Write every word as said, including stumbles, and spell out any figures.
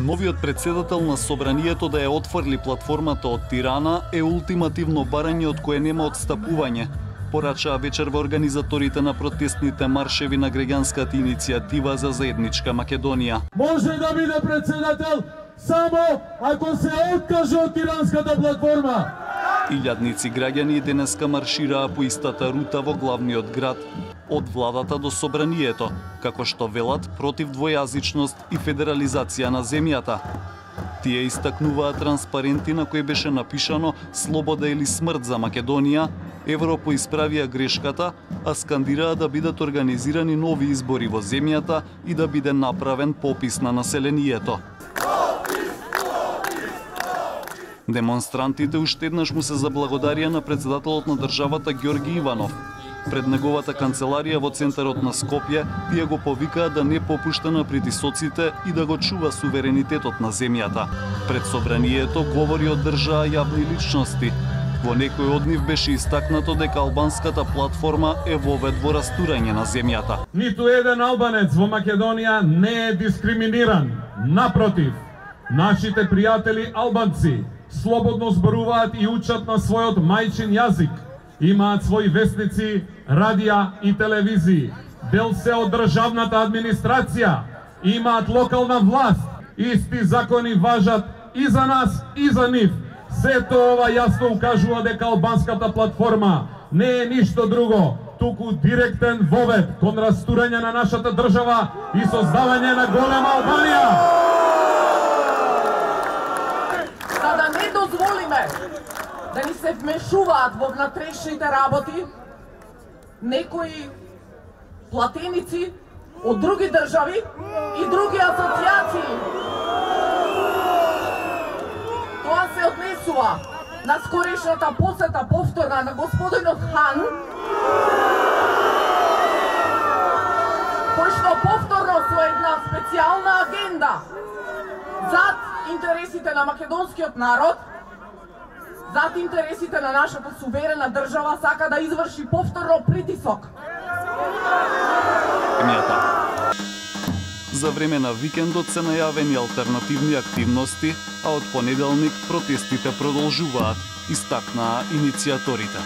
Новиот председател на Собранието да ја отфрли платформата од Тирана е ултимативно барање од кое нема отстапување, порачаа вечерва организаторите на протестните маршеви на граѓанската иницијатива за заедничка Македонија. Може да биде председател само ако се откаже од тиранската платформа. Илјадници граѓани денеска маршираа по истата рута во главниот град, од владата до Собранието, како што велат против двојазичност и федерализација на земјата. Тие истакнуваа транспаренти на кои беше напишано «Слобода или смрт за Македонија», Европа исправија грешката, а скандираа да бидат организирани нови избори во земјата и да биде направен попис на населението. Демонстрантите уште еднаш му се заблагодарија на председателот на државата Ѓорги Иванов. Пред неговата канцеларија во центарот на Скопје, тие го повикаа да не попушта на притисоците и да го чува суверенитетот на земјата. Пред Собранието говори одржаа јавни личности. Во некој од нив беше истакнато дека албанската платформа е вовед во растурање на земјата. Ниту еден албанец во Македонија не е дискриминиран. Напротив, нашите пријатели албанци слободно зборуваат и учат на својот мајчин јазик. Имаат своји вестници, радија и телевизии. Дел се од државната администрација. Имаат локална власт. Исти закони важат и за нас, и за нив. Сето ова јасно укажува дека албанската платформа не е ништо друго, туку директен вовед кон растурање на нашата држава и создавање на голема Албанија. За да не дозволиме да ни се вмешуваат во внатрешните работи некои платеници од други држави и други асоцијации. Тоа се однесува на скорешната посета повторна на господинот Хан, кој што повторно со една специјална агенда зад интересите на македонскиот народ, зад интересите на нашата суверена држава, сака да изврши повторно притисок. За време на викендот се најавени алтернативни активности, а од понеделник протестите продолжуваат, истакнаа иницијаторите.